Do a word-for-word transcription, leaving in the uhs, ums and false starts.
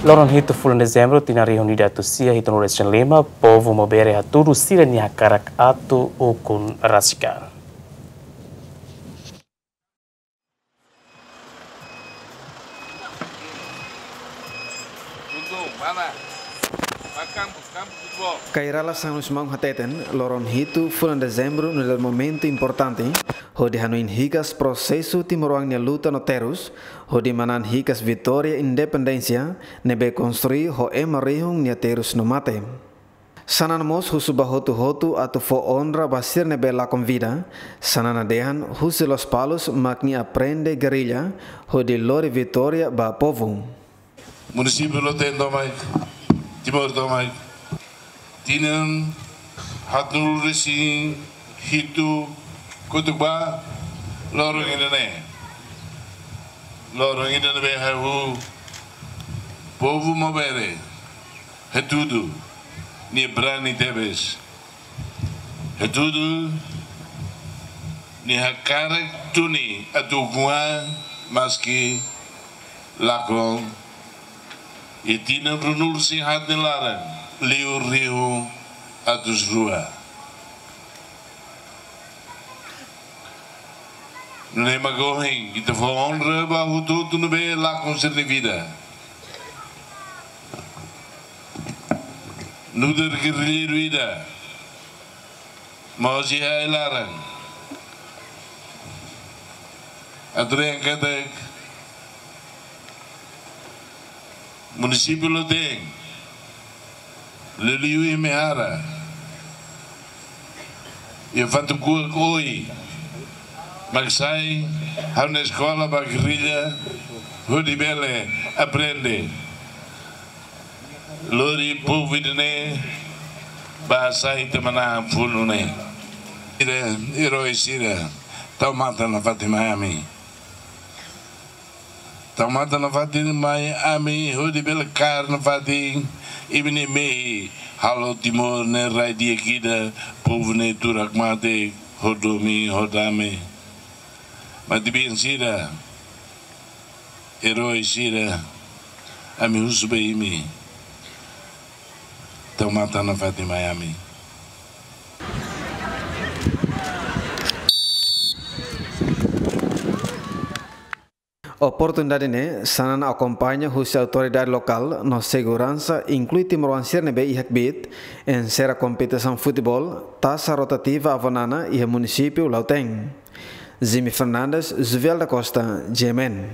Loron hitu fulan Dezembru, tinan rihun ida atus sia hitunulu resin lima, povu Maubere hatudu sira-nia hakarak atu ukun rasik an. Kairala Sanus Maun hateten, loron hitu fulan Dezembru nu'udar momentu importante hodi hanoin hikas prosesu timoroan nia luta no terus, hodi manán hikas vitória independénsia ne'ebé konstrui ho ema rihun nia terus no mate. Xanana mós husu ba hotu-hotu atu fó onra ba sira ne'ebé lakon vida. Xanana dehan husi Lospalos mak nia aprende gerrilla hodi lori vitória ba povu. Munisípiu Loteng tomak, Timor tomak, tinan haatnulu resin hitu kotuk ba, loron ida-ne'e, loron ida ne'ebé ha'u, povu Maubere, hatudu nia brani tebes, hatudu nia hakarak tuni atu ukun an, maski lakon iha tinan ruanulu resin haat nia laran, liu rihun atus rua. Nune'e mak ohin ita fó onra ba hotu-hotu ne'ebé lakon sira-nia vida nu'udar gerrilleiru ida. Mós iha ai-laran, atu dehan katak munisípiu Loteng, liuliu iha Mehara, iha Fatukuak Oe, mak sai ha'u-nia eskola ba gerrilla, hodi bele aprende lori povu ida-ne'e ba sai ita manán funu ne'e. Sira, erói sira, tau matan nafatin mai ami. Tau matan nafatin mai ami, hodi bele kaer nafatin imi-nia mehi, halo Timor ne'e rai di'ak ida, povu ne'e tuur hakmatek, ho domin, ho dame. Matebian sira, erói sira, ami husu ba imi, tau matan nafatin mai ami. Oportunidade ne'e, Xanana akompaña husi autoridade lokál no seguransa, inklui timoroan sira ne'ebé iha kbiit, enserra kompetisaun futeból, tasa rotativa Avó Nana iha munisípiu Lautém. Jimmy Fernandes, Juvel da Costa, G M N.